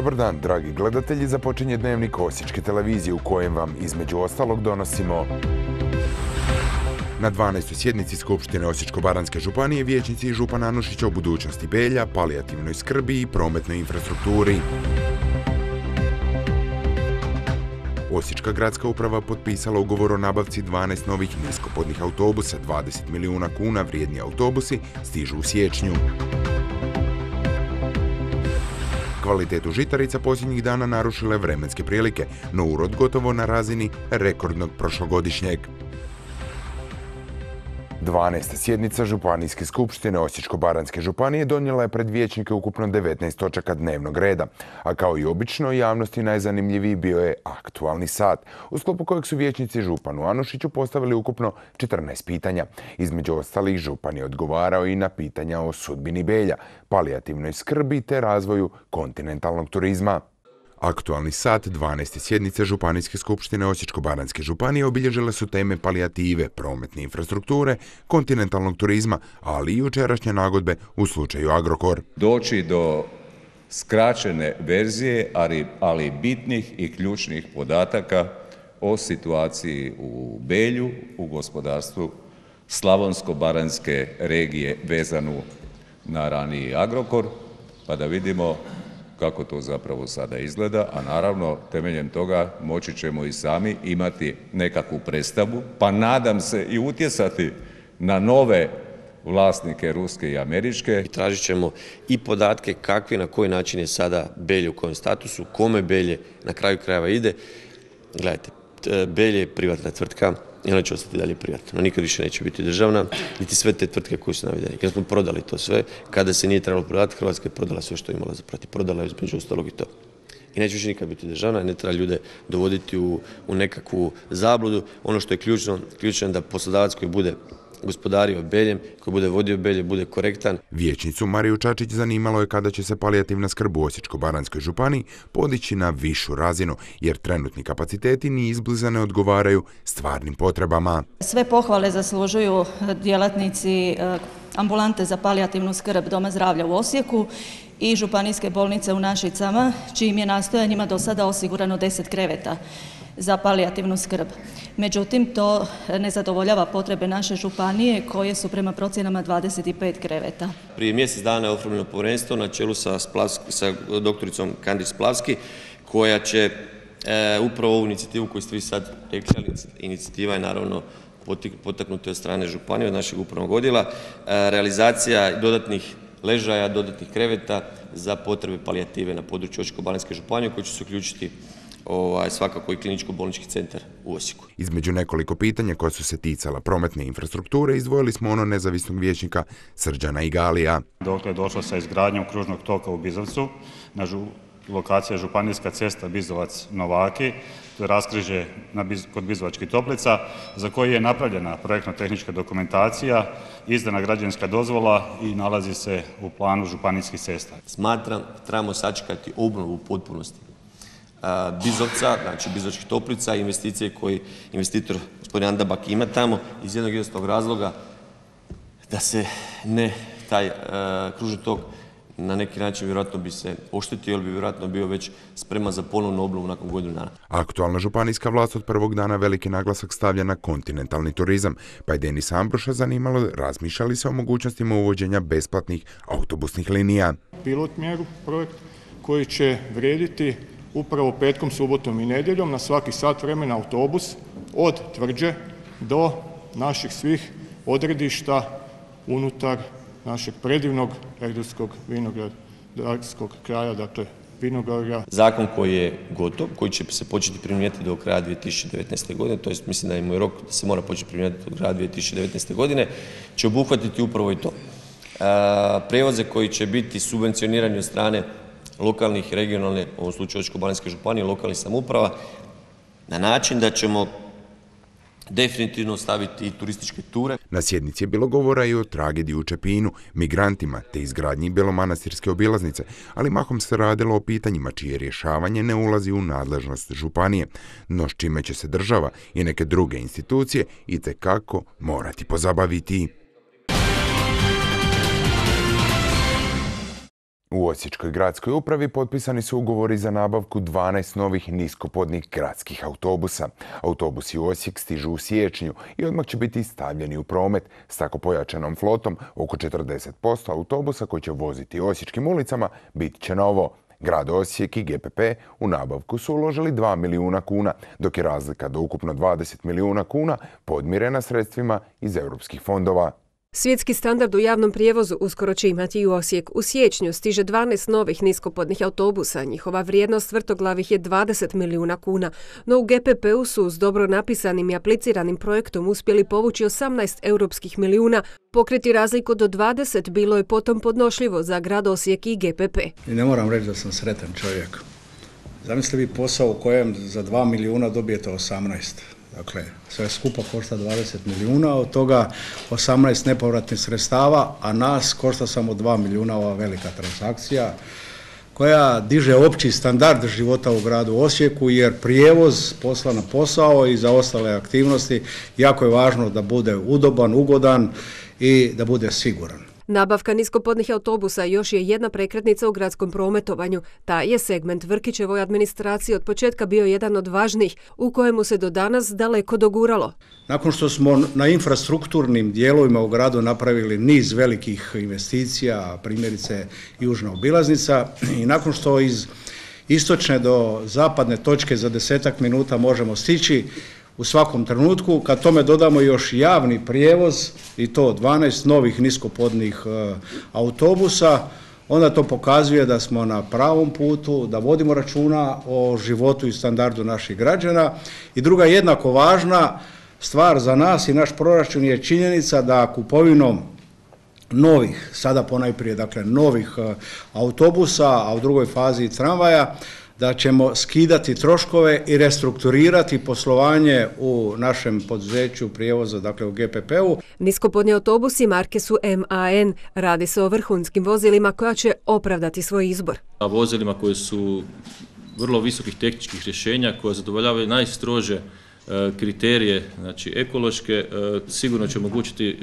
Dobar dan, dragi gledatelji, započinje Dnevnik Osječke televizije u kojem vam između ostalog donosimo. Na 12. sjednici Skupštine Osječko-baranjske županije vijećnici i župan Anušić o budućnosti Belja, palijativnoj skrbi i prometnoj infrastrukturi. Osječka gradska uprava potpisala ugovor o nabavci 12 novih niskopodnih autobusa, 20 milijuna kuna vrijedni autobusi stižu u siječnju. Kvalitetu žitarica posljednjih dana narušile vremenske prilike, no urod gotovo na razini rekordnog prošlogodišnjeg. 12. sjednica Županijske skupštine Osječko-baranjske županije donijela je pred vijećnike ukupno 19 točaka dnevnog reda, a kao i obično javnosti najzanimljiviji bio je aktualni sat, u sklopu kojeg su vijećnici županu Anušiću postavili ukupno 14 pitanja. Između ostalih, župan je odgovarao i na pitanja o sudbini Belja, palijativnoj skrbi te razvoju kontinentalnog turizma. Aktualni sat 12. sjednice Županijske skupštine Osječko-baranjske županije obilježile su teme palijative, prometne infrastrukture, kontinentalnog turizma, ali i jučerašnje nagodbe u slučaju Agrokor. Doći do skraćene verzije, ali bitnih i ključnih podataka o situaciji u Belju, u gospodarstvu Slavonsko-baranjske regije vezanu na raniji Agrokor, pa da vidimo kako to zapravo sada izgleda, a naravno temeljem toga moći ćemo i sami imati nekakvu predstavu, pa nadam se i utjecati na nove vlasnike ruske i američke. Tražit ćemo i podatke kakvi, na koji način je sada Belje, u kojem statusu, kome Belje na kraju krajeva ide. Gledajte, Belje je privatna tvrtka i ona će ostati dalje privatna. No, nikad više neće biti državna, niti sve te tvrtke koje su navedene. Kad smo prodali to sve, kada se nije trebalo prodati, Hrvatska je prodala sve što je imala za prodati. Prodala je između ostalog i to. I neće više nikad biti državna, ne treba ljude dovoditi u nekakvu zabludu. Ono što je ključno je da poslodavac koji bude gospodario Beljem, koji bude vodio Belje, bude korektan. Vijećnicu Mariju Čačić zanimalo je kada će se palijativna skrb u Osječko-baranjskoj županiji podići na višu razinu, jer trenutni kapaciteti ni izbliza ne odgovaraju stvarnim potrebama. Sve pohvale zaslužuju djelatnici ambulante za palijativnu skrb Doma zdravlja u Osijeku i županijske bolnice u Našicama, čijim je nastojanjima do sada osigurano 10 kreveta za palijativnu skrb. Međutim, to ne zadovoljava potrebe naše županije koje su prema procjenama 25 kreveta. Prije mjesec dana je oformljeno povjerenstvo na čelu sa doktoricom Kandić Splavski, koja će upravo ovu inicijativu koju ste vi sad rekli, inicijativa je naravno potaknuta od strane županije, od našeg upravnog odjela, realizacija dodatnih ležaja, dodatnih kreveta za potrebe palijative na području Osječko-baranjske županije, koji će se uključiti svakako i kliničko-bolnički centar u Osijeku. Između nekoliko pitanja koja su se ticala prometne infrastrukture, izdvojili smo ono nezavisnog vijećnika Srđana Igalija. Dokle je došlo sa izgradnjom kružnog toka u Bizovcu, na lokacija županijska cesta Bizovac-Novaki, to je raskrižje kod Bizovačkih Toplica, za koji je napravljena projektno-tehnička dokumentacija, izdana građevinska dozvola i nalazi se u planu županijskih cesta. Smatram da trebamo sačekati obnovu u potpunosti Bizovca, znači Bizovačkih Toplica, investicije koji investitor gospodin Andabak ima tamo iz jednog jednostavnog razloga da se taj kružni tok na neki način vjerojatno bi se oštetio ili bi vjerojatno bio već spreman za ponovnu obnovu nakon godinu dana. Aktualna županijska vlast od prvog dana veliki naglasak stavlja na kontinentalni turizam, pa je Denisa Ambroša zanimalo razmišlja li se o mogućnostima uvođenja besplatnih autobusnih linija. Pilot mjeru projekt koji će vrijediti upravo petkom, subotom i nedjeljom na svaki sat vremena autobus od Tvrđe do naših svih odredišta unutar našeg predivnog erdutskog vinogradarskog kraja, dakle Vinogorja. Zakon koji je gotov, koji će se početi primjenjivati do kraja 2019. godine, to jest mislim da je rok da se mora početi primjenjivati do kraja 2019. godine, će obuhvatiti upravo i to. Prijevoze koji će biti subvencionirani od strane lokalnih, regionalne, u ovom slučaju Osječko-baranjske županije, lokalnih samouprava, na način da ćemo definitivno staviti i turističke ture. Na sjednici je bilo govora i o tragediji u Čepinu, migrantima te izgradnji belomanastirske obilaznice, ali mahom se radilo o pitanjima čije rješavanje ne ulazi u nadležnost županije, no s čime će se država i neke druge institucije itekako morati pozabaviti. U Osječkoj gradskoj upravi potpisani su ugovori za nabavku 12 novih niskopodnih gradskih autobusa. Autobusi u Osijek stižu u siječnju i odmah će biti stavljeni u promet. S tako pojačanom flotom, oko 40% autobusa koji će voziti osječkim ulicama bit će novo. Grad Osijek i GPP u nabavku su uložili 2 milijuna kuna, dok je razlika do ukupno 20 milijuna kuna podmirena sredstvima iz europskih fondova. Svjetski standard u javnom prijevozu uskoro će imati i u Osijek. U siječnju stiže 12 novih niskopodnih autobusa. Njihova vrijednost vrtoglavih je 20 milijuna kuna. No u GPP-u su s dobro napisanim i apliciranim projektom uspjeli povući 18 europskih milijuna. Pokriti razliku do 20 bilo je potom podnošljivo za grad Osijek i GPP. I ne moram reći da sam sretan čovjek. Zamislite vi posao u kojem za 2 milijuna dobijete 18. Dakle, sve skupa košta 20 milijuna, od toga 18 nepovratnih sredstava, a nas košta samo 2 milijuna ova velika transakcija koja diže opći standard života u gradu Osijeku, jer prijevoz posla na posao i za ostale aktivnosti jako je važno da bude udoban, ugodan i da bude siguran. Nabavka niskopodnih autobusa još je jedna prekretnica u gradskom prometovanju. Taj je segment Vrkićevoj administraciji od početka bio jedan od važnijih, u kojemu se do danas daleko doguralo. Nakon što smo na infrastrukturnim dijelovima u gradu napravili niz velikih investicija, primjerice južna obilaznica, i nakon što iz istočne do zapadne točke za 10 minuta možemo stići u svakom trenutku, kad tome dodamo još javni prijevoz i to 12 novih niskopodnih autobusa, onda to pokazuje da smo na pravom putu, da vodimo računa o životu i standardu naših građana. I druga jednako važna stvar za nas i naš proračun je činjenica da kupovinom novih, sada ponajprije dakle novih autobusa, a u drugoj fazi tramvaja, da ćemo skidati troškove i restrukturirati poslovanje u našem poduzeću prijevoza, dakle u GPP-u. Niskopodni autobusi marke su MAN. Radi se o vrhunskim vozilima koja će opravdati svoj izbor. Vozilima koje su vrlo visokih tehničkih rješenja, koje zadovoljavaju najstrože kriterije, znači ekološke, sigurno će omogućiti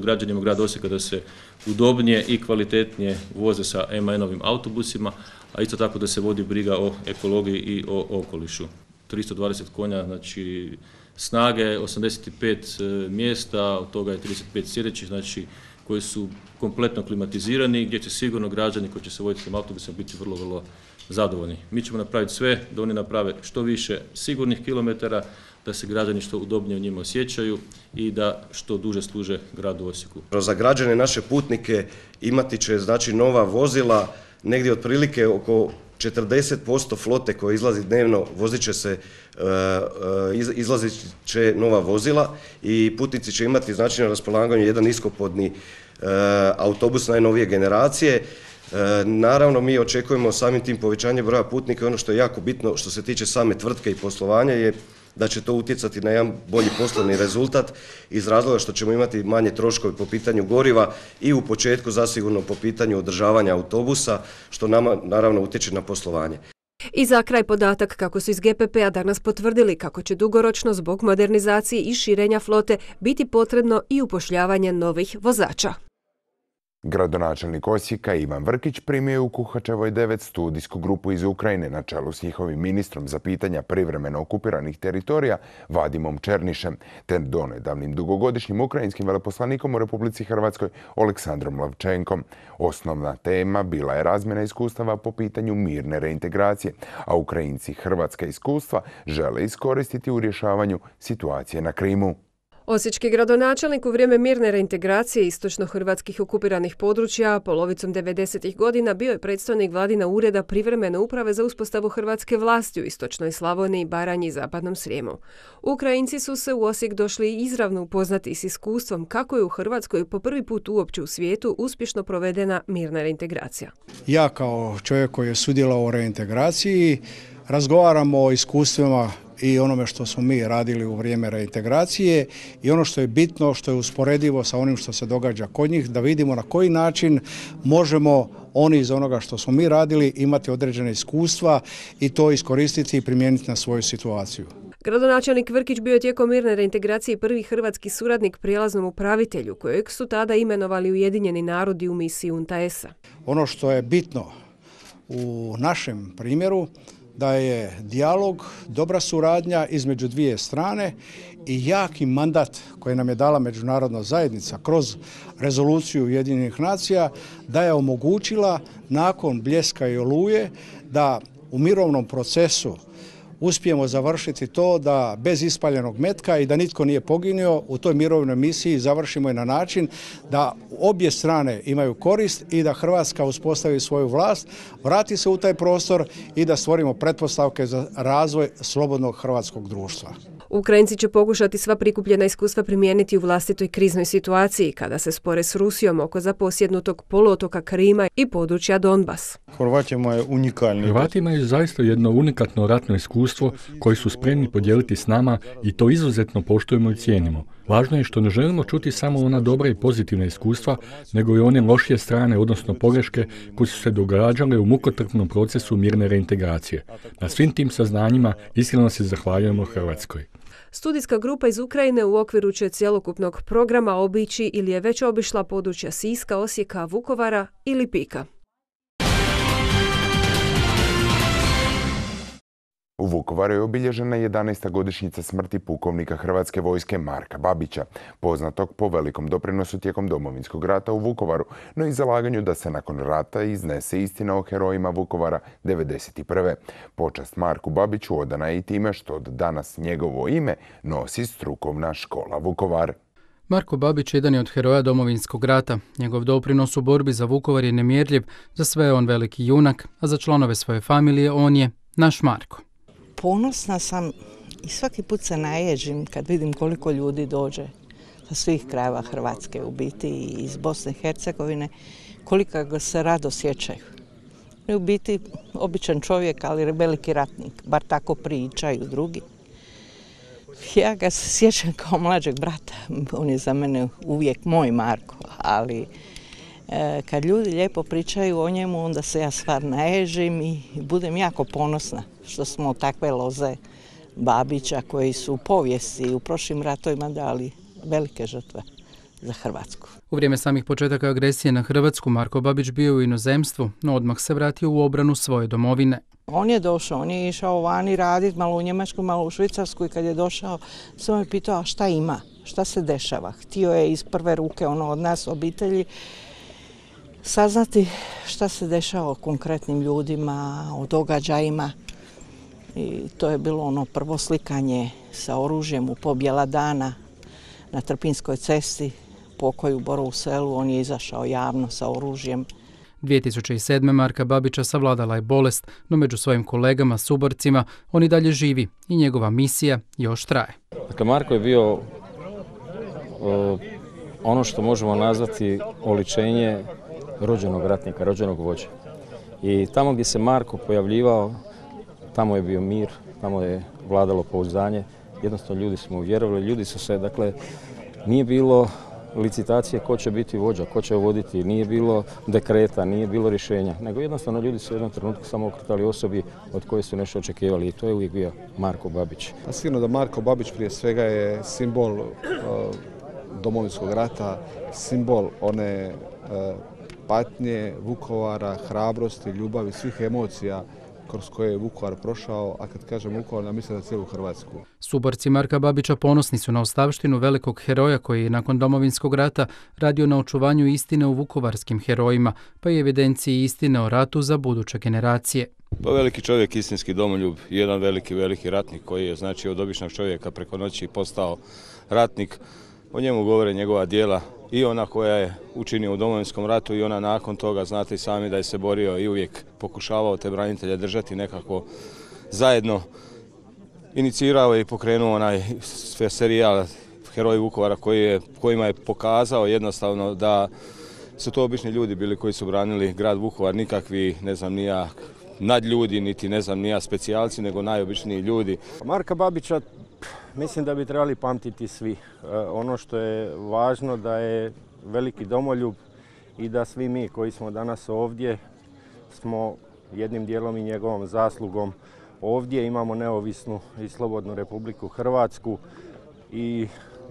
građanima grada Osijeka da se udobnije i kvalitetnije voze sa MAN-ovim autobusima, a isto tako da se vodi briga o ekologiji i o okolišu. 320 konja, znači snage, 85 mjesta, od toga je 35 sjedećih, znači koji su kompletno klimatizirani, gdje će sigurno građani koji će se voziti tim autobusom biti vrlo, vrlo zadovoljni. Mi ćemo napraviti sve da oni naprave što više sigurnih kilometara, da se građani što udobnije u njima osjećaju i da što duže služe gradu Osijeku. Za građane, naše putnike, imati će znači nova vozila, negdje otprilike oko 40% flote koja izlazi dnevno, izlazit će nova vozila i putnici će imati znači na raspolaganju jedan niskopodni autobus najnovije generacije. Naravno, mi očekujemo samim tim povećanje broja putnika i ono što je jako bitno što se tiče same tvrtke i poslovanja je da će to utjecati na jedan bolji poslovni rezultat iz razloga što ćemo imati manje troškove po pitanju goriva i u početku zasigurno po pitanju održavanja autobusa, što nama naravno utječe na poslovanje. I za kraj podatak kako su iz GPP-a danas potvrdili kako će dugoročno zbog modernizacije i širenja flote biti potrebno i upošljavanje novih vozača. Gradonačelnik Osijeka Ivan Vrkić primio je u Kuhačevoj 9 studijsku grupu iz Ukrajine na čelu s njihovim ministrom za pitanja privremeno okupiranih teritorija Vadimom Černišem, te donedavnim dugogodišnjim ukrajinskim veleposlanikom u Republici Hrvatskoj Oleksandrom Lavčenkom. Osnovna tema bila je razmjena iskustava po pitanju mirne reintegracije, a Ukrajinci hrvatska iskustva žele iskoristiti u rješavanju situacije na Krimu. Osječki gradonačelnik u vrijeme mirne reintegracije istočno-hrvatskih okupiranih područja polovicom 90. godina bio je predstavnik Vladina ureda privremene uprave za uspostavu hrvatske vlasti u istočnoj Slavoniji, Baranji i zapadnom Srijemu. Ukrajinci su se u Osijek došli izravno upoznati s iskustvom kako je u Hrvatskoj po prvi put uopće u svijetu uspješno provedena mirna reintegracija. Ja kao čovjek koji je sudjelovao u reintegraciji razgovaramo o iskustvima i onome što smo mi radili u vrijeme reintegracije i ono što je bitno, što je usporedivo sa onim što se događa kod njih, da vidimo na koji način možemo oni iz onoga što smo mi radili imati određene iskustva i to iskoristiti i primijeniti na svoju situaciju. Gradonačelnik Vrkić bio je tijekom mirne reintegracije prvi hrvatski suradnik prijelaznom upravitelju, kojeg su tada imenovali Ujedinjeni narodi u misiji UNTAES-a. Ono što je bitno u našem primjeru da je dijalog, dobra suradnja između dvije strane i jaki mandat koji nam je dala međunarodna zajednica kroz rezoluciju Ujedinjenih nacija da je omogućila nakon Bljeska i Oluje da u mirovnom procesu uspijemo završiti to da bez ispaljenog metka i da nitko nije poginuo u toj mirovnoj misiji završimo je na način da obje strane imaju korist i da Hrvatska uspostavi svoju vlast, vrati se u taj prostor i da stvorimo pretpostavke za razvoj slobodnog hrvatskog društva. Ukrajinci će pokušati sva prikupljena iskustva primijeniti u vlastitoj kriznoj situaciji kada se spore s Rusijom oko zaposjednutog poluotoka Krima i područja Donbas. Hrvati imaju zaista jedno unikatno ratno iskustvo koji su spremni podijeliti s nama i to izuzetno poštujemo i cijenimo. Važno je što ne želimo čuti samo ona dobra i pozitivna iskustva, nego i one lošije strane, odnosno pogreške koje su se događale u mukotrpnom procesu mirne reintegracije. Na svim tim saznanjima iskreno se zahvaljujemo Hrvatskoj. Studijska grupa iz Ukrajine u okviru će cjelokupnog programa obići ili je već obišla područja Siska, Osijeka, Vukovara i Lipika. U Vukovaru je obilježena 11. godišnjica smrti pukovnika Hrvatske vojske Marka Babića, poznatog po velikom doprinosu tijekom Domovinskog rata u Vukovaru, no i zalaganju da se nakon rata iznese istina o herojima Vukovara 1991. Počast Marku Babiću odana je i time što od danas njegovo ime nosi strukovna škola Vukovar. Marko Babić jedan je od heroja Domovinskog rata. Njegov doprinos u borbi za Vukovar je nemjerljiv, za sve je on veliki junak, a za članove svoje familije on je naš Marko. Ponosna sam i svaki put se naježim kad vidim koliko ljudi dođe sa svih krajeva Hrvatske, u biti i iz Bosne i Hercegovine, koliko ga se rado sjećaju. U biti običan čovjek, ali veliki ratnik, bar tako pričaju drugi. Ja ga se sjećam kao mlađeg brata, on je za mene uvijek moj Marko, ali kad ljudi lijepo pričaju o njemu, onda se ja stvar naježim i budem jako ponosna što smo takve loze Babića koji su u povijesti i u prošlim ratovima dali velike žrtve za Hrvatsku. U vrijeme samih početaka agresije na Hrvatsku Marko Babić bio u inozemstvu, no odmah se vratio u obranu svoje domovine. On je došao, on je išao vani raditi, malo u Njemačku, malo u Švicarsku i kad je došao, sam me pitao šta ima, šta se dešava. Htio je iz prve ruke od nas, obitelji, saznati šta se dešava o konkretnim ljudima, o događajima. I to je bilo prvo slikanje sa oružjem u pobjela dana na Trpinskoj cesti, pokoj u Borovu selu, on je izašao javno sa oružjem. 2007. Marka Babića savladala je bolest, no među svojim kolegama, suborcima, on i dalje živi i njegova misija još traje. Dakle, Marko je bio ono što možemo nazvati oličenje rođenog ratnika, rođenog vođe. I tamo gdje se Marko pojavljivao, tamo je bio mir, tamo je vladalo pouzdanje. Jednostavno ljudi smo vjerovali, ljudi su se, dakle, nije bilo licitacije ko će biti vođa, ko će voditi, nije bilo dekreta, nije bilo rješenja, nego jednostavno ljudi su u jednom trenutku samo okretali osobi od koje su nešto očekivali i to je uvijek bio Marko Babić. Sigurno da Marko Babić prije svega je simbol Domovinskog rata, simbol one patnje Vukovara, hrabrosti, ljubavi, svih emocija kroz koje je Vukovar prošao, a kad kažem Vukovar, ja mislim na cijelu Hrvatsku. Suborci Marka Babića ponosni su na ostavštinu velikog heroja koji je nakon Domovinskog rata radio na očuvanju istine u vukovarskim herojima, pa i evidenciji istine o ratu za buduće generacije. Pa veliki čovjek, istinski domoljub, jedan veliki ratnik koji je znači od običnog čovjeka preko noći postao ratnik. O njemu govore njegova djela i ona koja je učinio u Domovinskom ratu i ona nakon toga, znate i sami da je se borio i uvijek pokušavao te branitelje držati nekako zajedno. Inicirao je i pokrenuo onaj serijal Heroji Vukovara kojima je pokazao jednostavno da su to obični ljudi bili koji su branili grad Vukovar, nikakvi, ne znam ni ja, nadljudi, niti ne znam ni ja specijalci, nego najobičniji ljudi. Marka Babića mislim da bi trebali pamtiti svi. Ono što je važno da je veliki domoljub i da svi mi koji smo danas ovdje smo jednim dijelom i njegovom zaslugom ovdje imamo neovisnu i slobodnu Republiku Hrvatsku i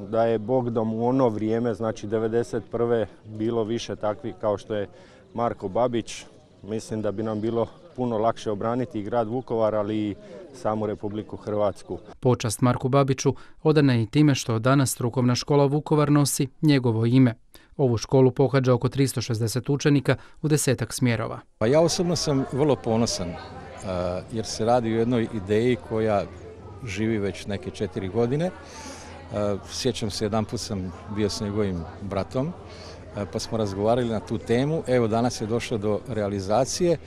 da je Bogdom u ono vrijeme, znači 1991. bilo više takvih kao što je Marko Babić, mislim da bi nam bilo puno lakše obraniti i grad Vukovar, ali i samu Republiku Hrvatsku. Počast Marku Babiću odana je i time što danas strukovna škola Vukovar nosi njegovo ime. Ovu školu pohađa oko 360 učenika u 10-ak smjerova. Pa ja osobno sam vrlo ponosan jer se radi o jednoj ideji koja živi već neke 4 godine. Sjećam se, jedanput sam bio s njegovim bratom pa smo razgovarali na tu temu. Evo, danas je došlo do realizacije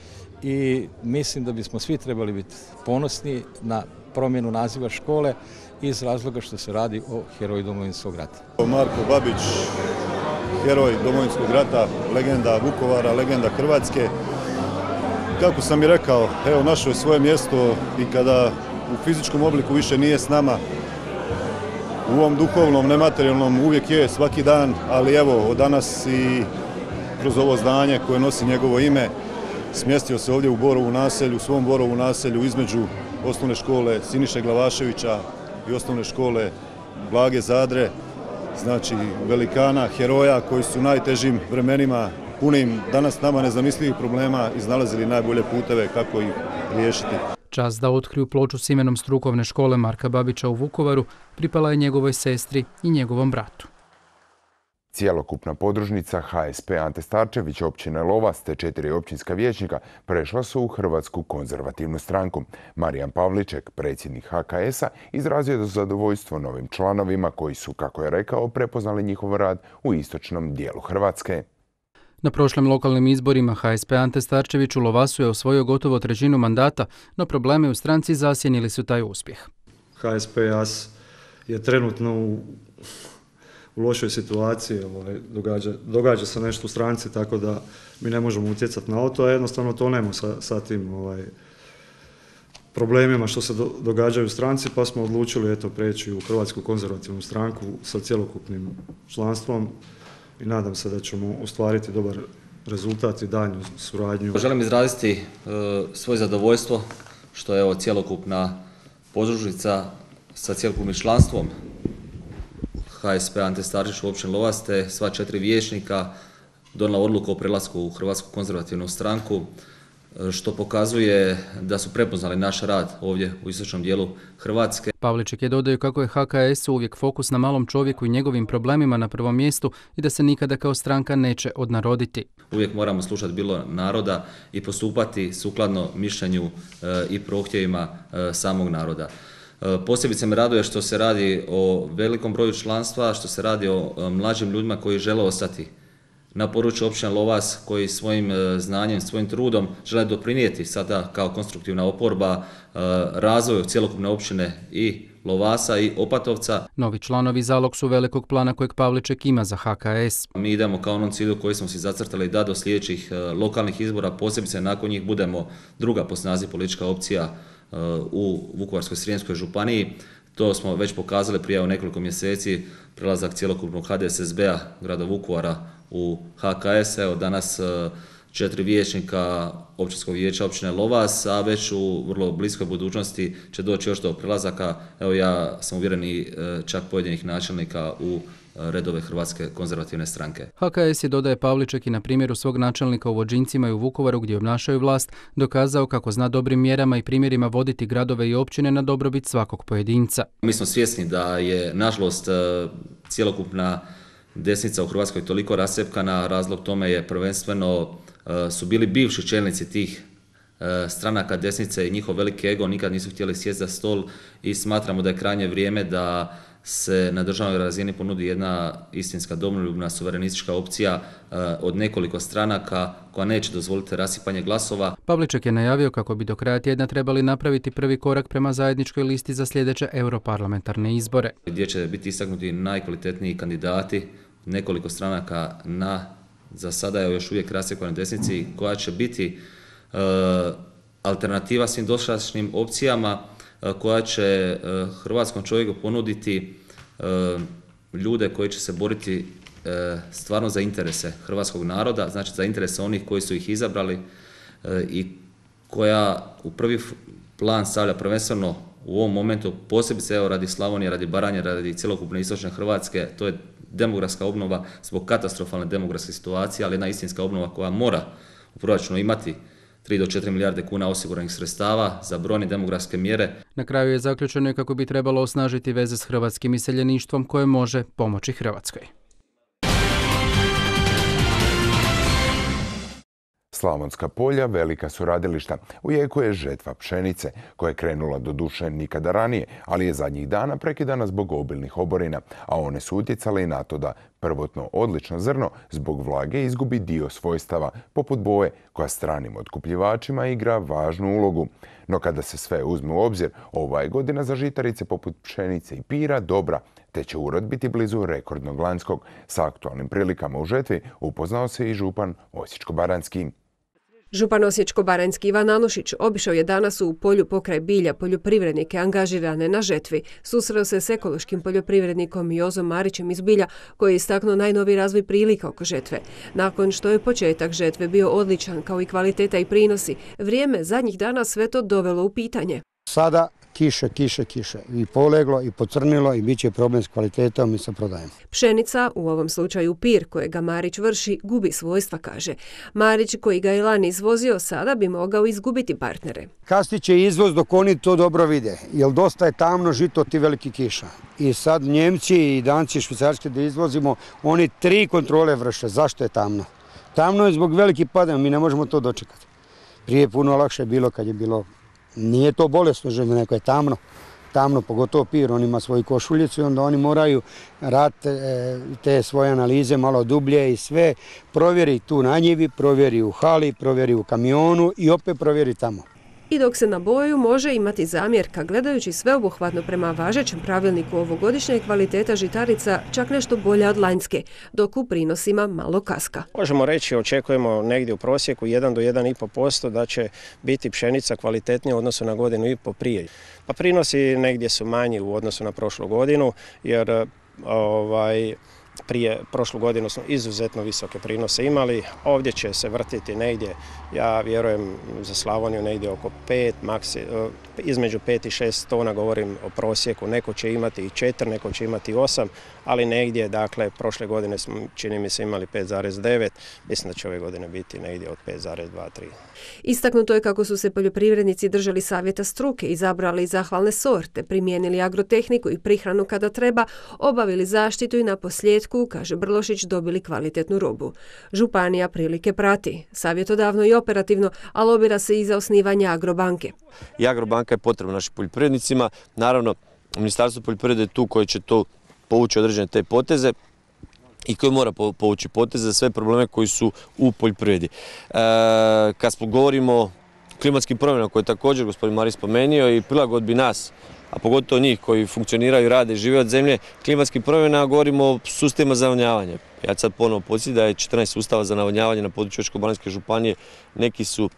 i mislim da bismo svi trebali biti ponosni na promjenu naziva škole iz razloga što se radi o heroju Domovinskog rata. Marko Babić, heroj Domovinskog rata, legenda Vukovara, legenda Hrvatske. Kako sam i rekao, evo, našao je svoje mjesto i kada u fizičkom obliku više nije s nama, u ovom duhovnom, nematerijalnom uvijek je svaki dan, ali evo, od danas i kroz ovo zdanje koje nosi njegovo ime, smjestio se ovdje u Borovu naselju, u svom Borovu naselju između osnovne škole Siniše Glavaševića i osnovne škole Blage Zadre, znači velikana, heroja koji su u najtežim vremenima, punim danas nama nezamislivih problema, iznalazili najbolje puteve kako ih riješiti. Čast da otkriju ploču s imenom strukovne škole Marka Babića u Vukovaru pripala je njegovoj sestri i njegovom bratu. Cijelokupna podružnica HSP Ante Starčević općine Lovas te 4 općinska vijećnika prešla su u Hrvatsku konzervativnu stranku. Marijan Pavliček, predsjednik HKS-a, izrazio je zadovoljstvo novim članovima koji su, kako je rekao, prepoznali njihov rad u istočnom dijelu Hrvatske. Na prošlim lokalnim izborima HSP Ante Starčević u Lovasu je osvojio gotovo trećinu mandata, no problemi u stranci zasjenili su taj uspjeh. HSP je trenutno u lošoj situaciji, događa se nešto u stranci, tako da mi ne možemo utjecati na to, a jednostavno to nema sa tim problemima što se događaju u stranci, pa smo odlučili preći u Hrvatsku konzervativnu stranku sa cjelokupnim članstvom i nadam se da ćemo ostvariti dobar rezultat i daljnju suradnju. Želim izraziti svoje zadovoljstvo što je cjelokupna podružnica sa cjelokupnim članstvom HSP Ante Starčević u općini Lovas te sva 4 vijećnika donijela odluku o prelasku u Hrvatsku konzervativnu stranku, što pokazuje da su prepoznali naš rad ovdje u istočnom dijelu Hrvatske. Pavliček je dodao kako je HKS uvijek fokus na malom čovjeku i njegovim problemima na prvom mjestu i da se nikada kao stranka neće odnaroditi. Uvijek moramo slušati bilo naroda i postupati sukladno mišljenju i prohtjevima samog naroda. Posebice me raduje što se radi o velikom broju članstva, što se radi o mlađim ljudima koji žele ostati na području općine Lovas, koji svojim znanjem, svojim trudom žele doprinijeti sada kao konstruktivna oporba razvoju cjelokupne općine i Lovasa i Opatovca. Novi članovi zalog su velikog plana kojeg Pavliček ima za HKS. Mi idemo kao onom cilju koji smo si zacrtali da do sljedećih lokalnih izbora, posebice nakon njih, budemo druga po snazi politička opcija u Vukovarsko-srijemskoj županiji. To smo već pokazali prije nekoliko mjeseci, prelazak cjelokupnog HDSSB-a grada Vukovara u HKS. Evo, danas 4 vijećnika općinskog vijeća općine Lovas, a već u vrlo bliskoj budućnosti će doći još do prelazaka. Evo, ja sam uvjeren i čak pojedinih načelnika u redove Hrvatske konzervativne stranke. HKS je, dodaje Pavliček, i na primjeru svog načelnika u Vođincima i u Vukovaru gdje obnašaju vlast dokazao kako zna dobrim mjerama i primjerima voditi gradove i općine na dobrobit svakog pojedinca. Mi smo svjesni da je, nažalost, cjelokupna desnica u Hrvatskoj toliko rascjepkana. Razlog tome je prvenstveno su bili bivši čelnici tih stranaka desnice i njihov veliki ego nikad nisu htjeli sjesti za stol i smatramo da je krajnje vrijeme da se na državnoj razini ponudi jedna istinska domoljubna suverenistička opcija od nekoliko stranaka koja neće dozvoliti rasipanje glasova. Pavliček je najavio kako bi do kraja tjedna trebali napraviti prvi korak prema zajedničkoj listi za sljedeće europarlamentarne izbore, gdje će biti istaknuti najkvalitetniji kandidati nekoliko stranaka na, za sada je još uvijek rascjepkanoj desnici, koja će biti alternativa svim dosadašnjim opcijama, koja će hrvatskom čovjeku ponuditi ljude koji će se boriti stvarno za interese hrvatskog naroda, znači za interese onih koji su ih izabrali i koja u prvi plan stavlja prvenstveno u ovom momentu, posebice evo radi Slavonije, radi Baranje, radi cjelokupne istočne Hrvatske, to je demografska obnova zbog katastrofalne demografske situacije, ali jedna istinska obnova koja mora u proračunu imati 3 do 4 milijarde kuna osiguranih sredstava za brojne demografske mjere. Na kraju je zaključeno kako bi trebalo osnažiti veze s hrvatskim iseljeništvom koje može pomoći Hrvatskoj. Slavonska polja velika su radilišta. U jeku je žetva pšenice, koja je krenula do duše nikada ranije, ali je zadnjih dana prekidana zbog obilnih oborina, a one su utjecale i na to da prvotno odlično zrno zbog vlage izgubi dio svojstava, poput boje, koja stranim otkupljivačima igra važnu ulogu. No kada se sve uzme u obzir, ova je godina za žitarice poput pšenice i pira dobra, te će urod biti blizu rekordnog lanjskog. Sa aktualnim prilikama u žetvi upoznao se i župan Osječko-baranjski. Župan Osječko-baranjski Ivan Anušić obišao je danas u polju pokraj bilja poljoprivrednike angažirane na žetvi. Susreo se s ekološkim poljoprivrednikom Jozom Marićem iz Bilja, koji je istaknuo najnoviji razvoj prilika oko žetve. Nakon što je početak žetve bio odličan, kao i kvaliteta i prinosi, vrijeme zadnjih dana sve to dovelo u pitanje. Sada kiše i poleglo i pocrnilo i bit će problem s kvalitetom i sa prodajem. Pšenica, u ovom slučaju pir kojega Marić vrši, gubi svojstva, kaže. Marić, koji ga je lani izvozio, sada bi mogao izgubiti partnere. Kasnije će izvoz dok oni to dobro vide, jer dosta je tamno žito od tih velikih kiša. I sad Njemci i Danci švicarski da izvozimo, oni 3 kontrole vrše. Zašto je tamno? Tamno je zbog velikih padanja, mi ne možemo to dočekati. Prije je puno lakše bilo kad je bilo. Nije to bolesno želje, neko je tamno, pogotovo pir, on ima svoju košuljicu i onda oni moraju raditi te svoje analize malo dublje i sve, provjeri tu na njivi, provjeri u hali, provjeri u kamionu i opet provjeri tamo. I dok se na boju može imati zamjerka, gledajući sveobuhvatno prema važećem pravilniku ovogodišnja je kvaliteta žitarica čak nešto bolja od lanjske, dok u prinosima malo kaska. Možemo reći, očekujemo negdje u prosjeku 1 do 1,5% da će biti pšenica kvalitetnija u odnosu na godinu i po prije. Pa prinosi negdje su manji u odnosu na prošlu godinu, jer prije prošlu godinu smo izuzetno visoke prinose imali, ovdje će se vrtiti negdje, ja vjerujem za Slavoniju negdje oko 5, između 5 i 6 tona, govorim o prosjeku, neko će imati i 4, neko će imati 8, ali negdje, dakle, prošle godine smo, čini mi se, imali 5,9, mislim da će ove godine biti negdje od 5,2-3. Istaknuto je kako su se poljoprivrednici držali savjeta struke, izabrali zahvalne sorte, primijenili agrotehniku i prihranu kada treba, obavili zaštitu i na posljedku, kaže Brlošić, dobili kvalitetnu robu. Županija prilike prati, savjetodavno i operativno, a lobira se i za osnivanje Agrobanke. I Agrobanka je potrebna našim poljoprivrednicima. Naravno, Ministarstvo poljoprivrede je tu koje će to povući određene te poteze i koji mora povući poteze za sve probleme koji su u poljoprivredi. Kad govorimo o klimatskim promjenama koje je također gospodin Marić spomenuo i prilagodbi nas, a pogotovo njih koji funkcioniraju, rade i žive od zemlje, klimatskih promjena, govorimo o sustavima za navodnjavanje. Ja ću sad ponovo podsjetiti da je 14 sustava za navodnjavanje na području Osječko-baranjske županije, neki su,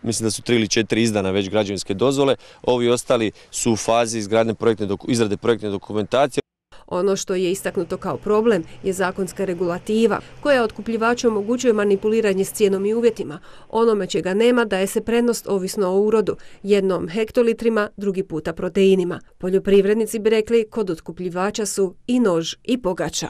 mislim da su 3 ili 4 izdana već građevinske dozvole, ovi ostali su u fazi izrade projektne dokumentacije. Ono što je istaknuto kao problem je zakonska regulativa koja otkupljivaču omogućuje manipuliranje s cijenom i uvjetima. Onome čega nema daje se prednost ovisno o urodu, jednom hektolitrima, drugi puta proteinima. Poljoprivrednici bi rekli kod otkupljivača su i nož i pogača.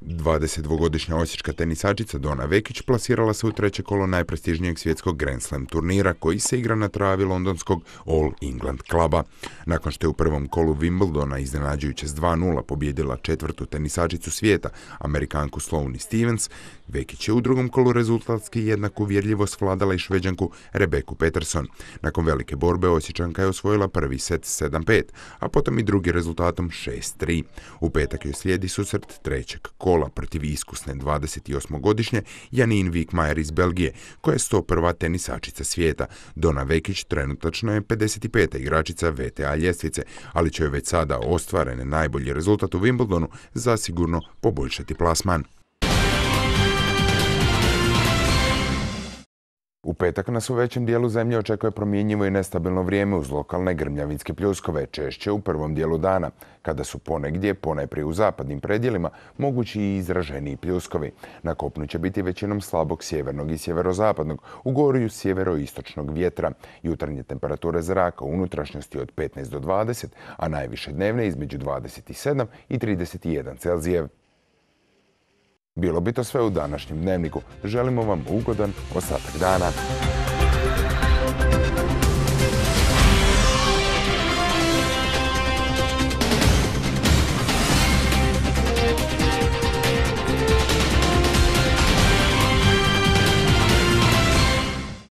22-godišnja osječka tenisačica Dona Vekić plasirala se u 3. kolo najprestižnijeg svjetskog Grand Slam turnira koji se igra na travi londonskog All England kluba. Nakon što je u prvom kolu Wimbledona iznenađujuće s 2:0 pobijedila 4. tenisačicu svijeta, Amerikanku Sloane Stevens, Vekić je u drugom kolu rezultatski jednako uvjerljivo svladala i Šveđanku Rebeku Peterson. Nakon velike borbe Osječanka je osvojila prvi set 7-5, a potom i drugi rezultatom 6-3. U petak joj slijedi susret 3. kola protiv iskusne 28-godišnje Janine Wickmajer iz Belgije, koja je 101. tenisačica svijeta. Dona Vekić trenutačno je 55. igračica WTA ljestvice, ali će joj već sada ostvarene najbolji rezultat u Wimbledonu zasigurno poboljšati plasman. U petak nas u većem dijelu zemlje očekuje promjenjivo i nestabilno vrijeme uz lokalne grmljavinske pljuskove, češće u prvom dijelu dana, kada su ponegdje, ponajprije u zapadnim predjelima, mogući i izraženiji pljuskovi. Na kopnu će biti većinom slabog sjevernog i sjeverozapadnog, u gorju sjeveroistočnog vjetra. Jutarnje temperature zraka u unutrašnjosti od 15 do 20, a najviše dnevne između 27 i 31 Celzijev. Bilo bi to sve u današnjem dnevniku. Želimo vam ugodan ostatak dana.